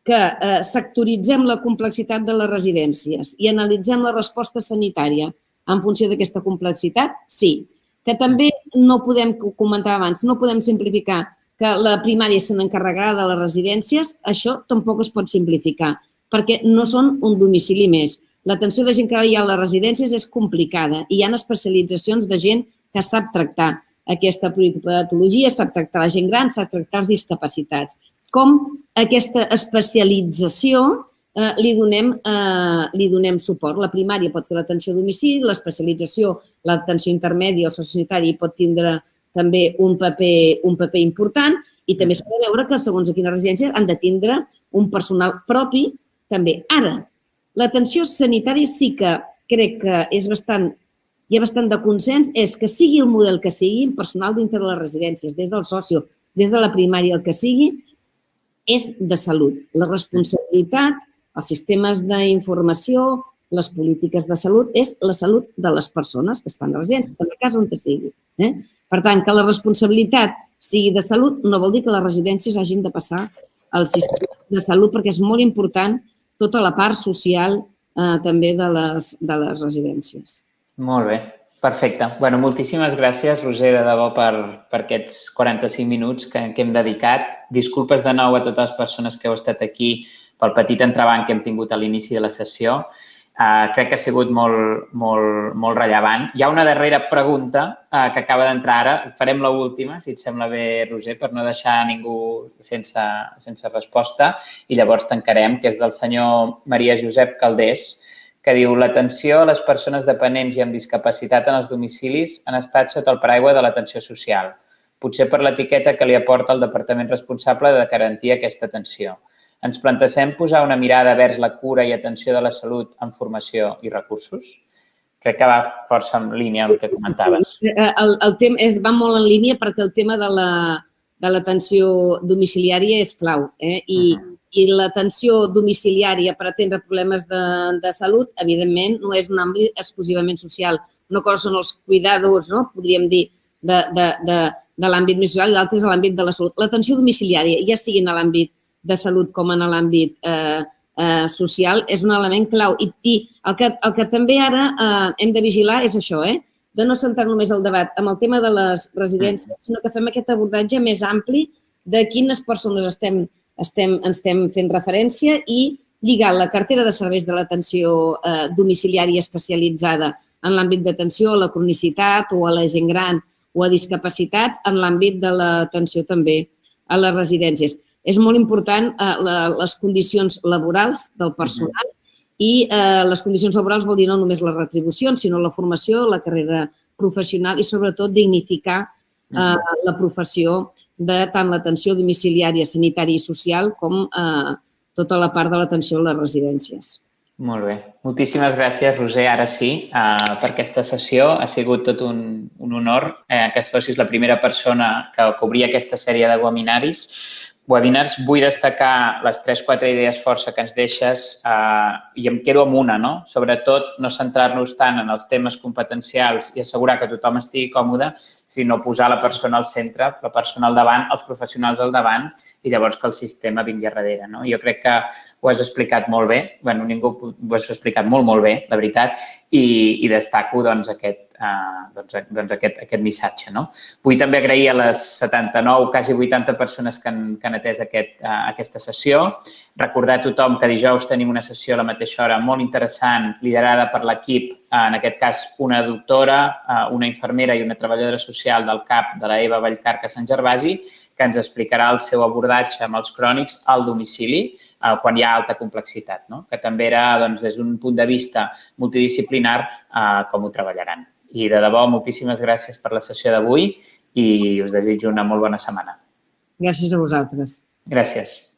que sectoritzem la complexitat de les residències i analitzem la resposta sanitària en funció d'aquesta complexitat, sí. Que també no podem, com comentava abans, no podem simplificar que la primària se n'encarregarà de les residències, això tampoc es pot simplificar, perquè no són un domicili més. L'atenció de gent que hi ha a les residències és complicada i hi ha especialitzacions de gent que sap tractar aquesta patologia, sap tractar la gent gran, sap tractar els discapacitats. Com aquesta especialització li donem suport. La primària pot fer l'atenció a domicili, l'especialització, l'atenció intermèdia o sociosanitària pot tindre també un paper important i també s'ha de veure que segons a quines residències han de tindre un personal propi també. Ara, l'atenció sanitària sí que crec que és bastant, hi ha bastant de consens, és que sigui el model que sigui, personal dintre de les residències, des del socio, des de la primària, el que sigui, és de salut. La responsabilitat, els sistemes d'informació, les polítiques de salut, és la salut de les persones que estan a residències, estan a casa on sigui. Per tant, que la responsabilitat sigui de salut no vol dir que les residències hagin de passar al sistema de salut, perquè és molt important tota la part social també de les residències. Molt bé, perfecte. Bé, moltíssimes gràcies, Roser, de debò, per aquests quaranta-cinc minuts que hem dedicat. Disculpes de nou a totes les persones que heu estat aquí pel petit entrebanc que hem tingut a l'inici de la sessió. Crec que ha sigut molt rellevant. Hi ha una darrera pregunta que acaba d'entrar ara. Farem l'última, si et sembla bé, Roser, per no deixar ningú sense resposta. I llavors tancarem, que és del senyor Maria Josep Caldés, que diu: l'atenció a les persones dependents i amb discapacitat en els domicilis han estat sota el paraigua de l'atenció social, potser per l'etiqueta que li aporta el departament responsable de garantir aquesta atenció. Ens plantegem posar una mirada vers la cura i atenció de la salut en formació i recursos? Crec que va força en línia amb el que comentaves. Sí, el tema va molt en línia perquè el tema de l'atenció domiciliària és clau. I l'atenció domiciliària per atendre problemes de salut, evidentment, no és un àmbit exclusivament social. Una cosa són els cuidadors, podríem dir, de l'àmbit més social i l'altra és l'àmbit de la salut. L'atenció domiciliària, ja sigui en l'àmbit de salut com en l'àmbit social, és un element clau. I el que també ara hem de vigilar és això, de no centrar només el debat en el tema de les residències, sinó que fem aquest abordatge més ampli de quines persones estem estem fent referència i lligar la cartera de serveis de l'atenció domiciliària especialitzada en l'àmbit d'atenció a la cronicitat o a la gent gran o a discapacitats en l'àmbit de l'atenció també a les residències. És molt important les condicions laborals del personal i les condicions laborals vol dir no només les retribucions, sinó la formació, la carrera professional i sobretot dignificar la professió de tant l'atenció domiciliària, sanitària i social com tota la part de l'atenció a les residències. Molt bé. Moltíssimes gràcies, Roser, ara sí, per aquesta sessió. Ha sigut tot un honor que et fossis la primera persona que obria aquesta sèrie de webinaris. Webinars, vull destacar les tres o quatre idees força que ens deixes i em quedo amb una, no? Sobretot no centrar-nos tant en els temes competencials i assegurar que tothom estigui còmode, sinó posar la persona al centre, la persona al davant, els professionals al davant i llavors que el sistema vingui a darrere. Jo crec que ho has explicat molt bé, bé, ningú ho has explicat molt, molt bé, la veritat, i destaco aquest missatge. Vull també agrair a les setanta-nou, quasi vuitanta persones que han atès aquesta sessió. Recordar a tothom que dijous tenim una sessió a la mateixa hora molt interessant, liderada per l'equip, en aquest cas una doctora, una infermera i una treballadora social del C A P de la Eva Vallcarca Sant Gervasi, que ens explicarà el seu abordatge amb els crònics al domicili quan hi ha alta complexitat, que també era des d'un punt de vista multidisciplinar com ho treballaran. I de debò, moltíssimes gràcies per la sessió d'avui i us desitjo una molt bona setmana. Gràcies a vosaltres. Gràcies.